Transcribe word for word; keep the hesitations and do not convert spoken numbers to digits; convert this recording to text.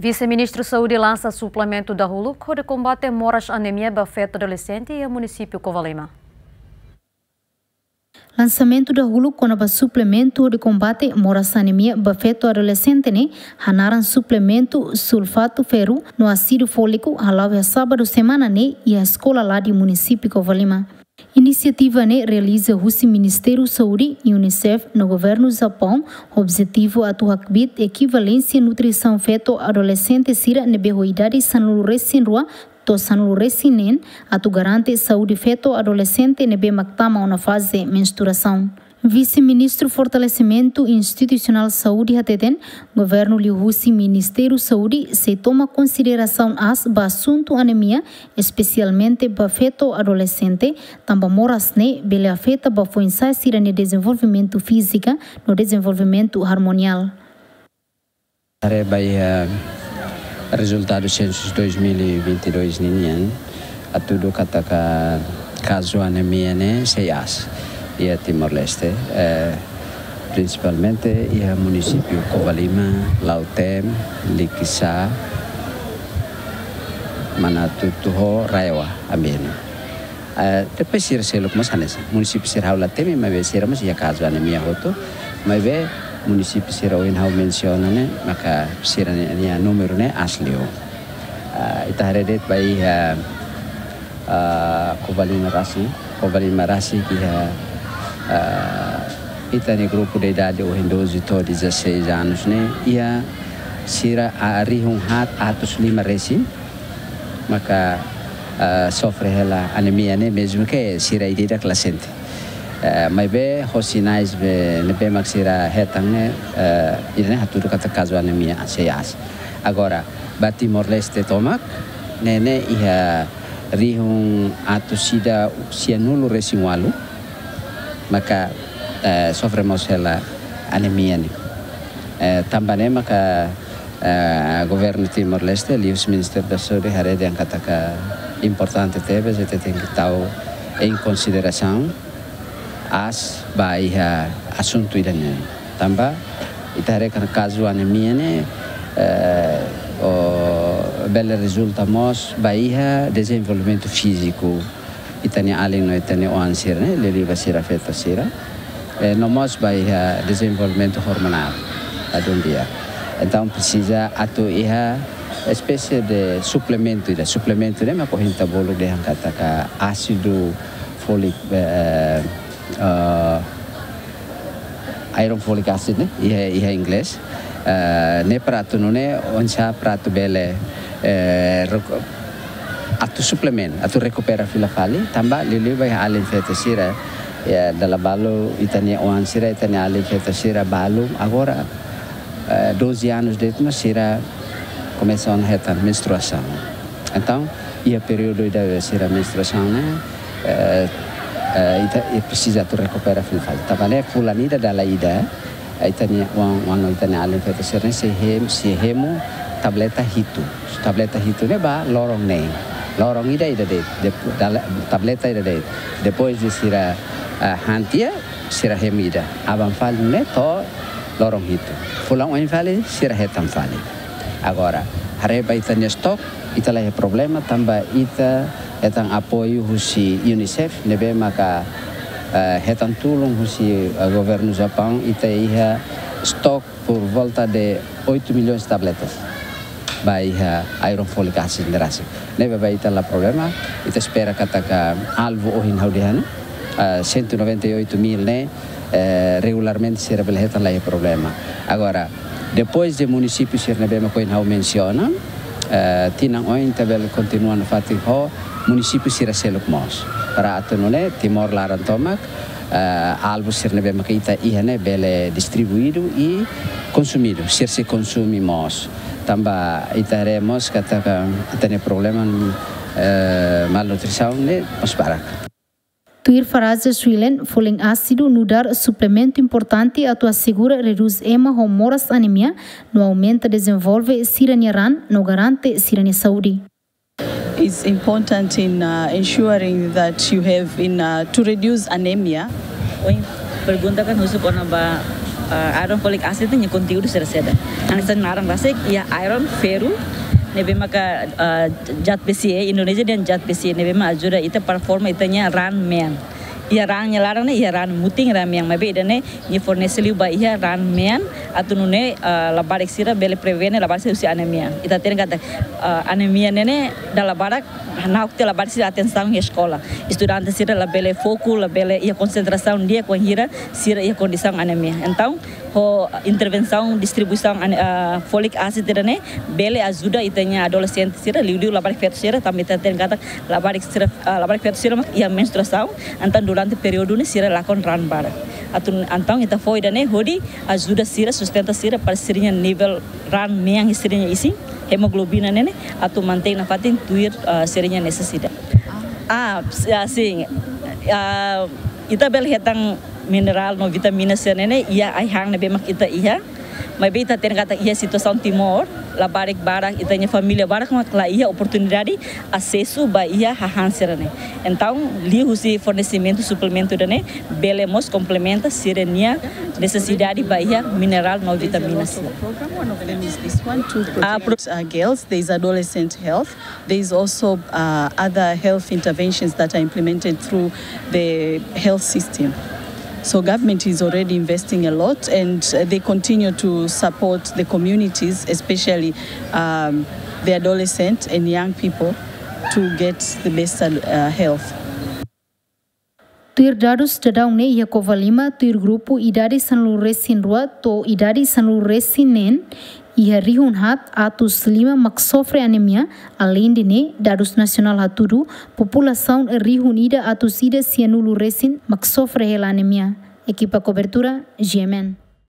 Vise-Ministru Saúde lansa suplementu dahuluk hodi kombate moras anemia ba feto adolexente iha munisípiu Covalima. Lansamentu dahuluk kona-ba suplementu hodi kombate moras anemia ba feto adolexente ne'e hanaran suplementu sulfatu ferru no ásidu fóliku hala'o iha sábadu semana ne'e iha eskola Ladi, munisípiu Covalima. Inisiativa ne'e realiza husi Ministériu Saúde, UNICEF no Governu Japaun, objetivu atu hakbiit ekivalénsia nutrisaun feto adolexente sira ne'ebé ho idade sanulu-resin-rua to'o sanulu-resin-neen, atu garante saúde feto adolexente ne'ebé mak tama ona faze menstruasaun. Vise-Ministru Fortalesimentu Institusionál Saúde hateten, governu liuhusi Ministériu Saúde sei toma konsiderasaun aas ba asuntu anemia, espesialmente ba feto adolexente, tanba moras ne'e bele afeta ba foin-sa'e sira-nia dezenvolvimentu fízika no dezenvolvimentu ormoniál. Haree ba iha rezultadu sensus dois mil e vinte e dois ninian, hatudu katak kazu anemia ne'e sei aas iha Timor-Leste, eh, prinsipalmente iha munisípiu Covalima, Lautém, Likisá, Manatuto ho RAEOA, Ambeno. Eh, depois sira seluk mós hanesan. Munisípiu sira ha'u la temi, maibé sira mós iha kazu anemia hotu. Maibé munisípiu sira ohin ha'u mensiona ne'e, maka sira-nia númeru ne'e aas liu. Ah, ita haree de'it ba iha, ah, Covalima rasik, Covalima rasik iha, ah, ita-nia grupu de idade ohin doze to'o dezasseis anos ne'e, iha sira, ah, rihun haat atus lima resin maka, eh, sofre hela anemia ne'e, mezmu ke sira ida-idak la sente. Eh, maibé ho sinais be, ne'ebé mak sira hetan ne'e, eh, ida-ne'e hatudu katak kazu anemia sei aas. Agora, ba Timor-Leste tomak, ne'e ne'e iha rihun atus ida sianulu-resin-ualu, maka, eh, sofre mós hela anemia ne'e. Eh, tanba ne'e maka, eh, governu Timor-Leste, liuhusi Ministériu da Saúde, haree dehan katak importante tebes, ita tenke tau em consideração aas ba iha asuntu ida-ne'e. Tanba ita haree katak kazu anemia ne'e, eh, o, bele rezulta mós ba iha dezenvolvimentu fíziku ita-nia alin no ita-nia oan sira ne'e, liuliu ba sira feto sira. Eh, no mós ba iha dezenvolvimentu ormonál, ladún di'ak. Entaun presiza atu iha espésie de suplementu ida. Suplementu ne'e mak ohin ita bolu dehan katak ásidu fólik, eh, eh, iron folic acid ne'e, iha, iha inglés. Eh, ne'e para atu nune'e, oinsá para atu bele, eh, reku-, atu suplementu, atu rekupera fila fali, tanba liuliu ba iha alin feto sira, ya, dala balu ita-nia oan sira, ita-nia alin feto sira balu, agora, eh, doze anos de'it mak sira komesa ona hetan menstruasaun. Entaun, iha períodu ida sira menstruasaun ne'e, eh, eh, ita, ita presiza atu rekupera fila fali. Tanba ne'e fulan ida dala ida, eh, ita-nia oan, oan no ita-nia alin feto sira ne'e sei hem-, sei hemu tableta hitu. Tableta hitu ne'e ba loron neen. Loron ida ida de'it, dep-, dala-, tableta ida de'it. Depois de sira, eh, han tiha, sira hemu ida. Aban fali ne'e to'o loron hitu. Fulan oin fali, sira hetan fali. Agora, haree ba ita-nia stok, ita la iha problema, tanba ita hetan apoiu husi UNICEF, ne'ebé maka, eh, hetan tulun husi, eh, governu Japaun, ita iha stok por volta de oito milhões tabletas ba iha iron folic acid ne'e rasik. Ne'ebé ba ita la problema, ita espera katak alvu ohin ha'u dehan, ah, cento e noventa e oito mil ne'e, eh, regularmente sira bele hetan la iha problema. Agora, depois de munisípiu sira ne'ebé mak ohin ha'u mensiona, eh, tinan oin ita bele kontinua nafatin ho munisípiu sira seluk mós. Para atu nune'e Timor laran tomak, eh, alvu sira ne'ebé maka ita iha ne'e bele distribuidu i konsumidu, sira sei konsume mós. Tanba ita haree mós katak ita-nia problema, eh, malnutrisaun ne'e mós barak. Tuir Faraja Swilen, folin ásidu nu'udar suplementu importante atu asegura redús ema ho moras anemia, no aumenta dezenvolve sira-nia raan, no garante sira-nia saúde. Is important in, uh, ensuring that you have in, uh, to reduce anemia. Ohin pergunta kan husu kona-ba Ah, iron folic acid nia konteúdu sira saida. Hanesan naran rasik, iha iron, ferru, ne'ebé maka, ah, zat besi, eh, Indonézia dehan zat besi, ne'ebé mak ajuda ita para forma ita-nia raan mean. Iha raan nia laran ne'e, iha raan mutin, raan mean, maibé ida-ne'e nia fornese liu ba iha raan mean, atu nune'e, ah, labarik sira bele prevene labarik sira husi anemia. Ita hatene katak, ah, anemia ne'e ne'e dala barak na'ok tiha labarik sira atensaun iha eskola. Estudante sira labele foku, labele iha konsentrasaun di'ak wainhira sira iha kondisaun anemia. Entaun, ho intervensaun distribuisaun ane-, ah, folic acid ida-ne'e bele ajuda ita-nia adolexente sira, liuliu labarik feto sira, tanba ita hatene katak labarik sira, ah, labarik feto sira mak iha menstruasaun, entaun durante períodu ne'e sira lakon raan barak. Atu, entaun ita fó ida-ne'e hodi ajuda sira, sustenta sira para sira-nia nivel raan mean iha sira-nia isin, hemoglobina ne'e ne'e, atu mantein nafatin tuir, ah, sira-nia nesesidade. Ah, s-, ah, sin. Ah, ita bele hetan minerál no vitamina sira ne'e ne'e iha ai-han ne'ebé mak ita iha. Maibé ita hatene katak iha situasaun Timor, labarik barak, ita-nia família barak mak la iha oportunidade asesu ba iha hahán sira-ne'e. Entaun, liuhusi fornesimentu suplementu ida-ne'e bele mós komplementa sira-nia nesesidade ba iha minerál no vitamina sira. Program, one of them is this one to protect, uh, girls. There is adolescent health. There is also, uh, other health interventions that are implemented through the health system. So government is already investing a lot, and, uh, they continue to support the communities, especially, um, the adolescent and young people, to get the best, uh, health. Tuir dadus daudaun ne'e iha Covalima, tuir grupu idade sanulu-resin-rua to'o idade sanulu-resin-neen, iha rihun haat atus lima mak sofre anemia. Aleinde ne'e, dadus nasionál hatudu, populasaun rihun ida atus ida sianulu-resin mak sofre hela anemia. Ekipa kobertura, G M N.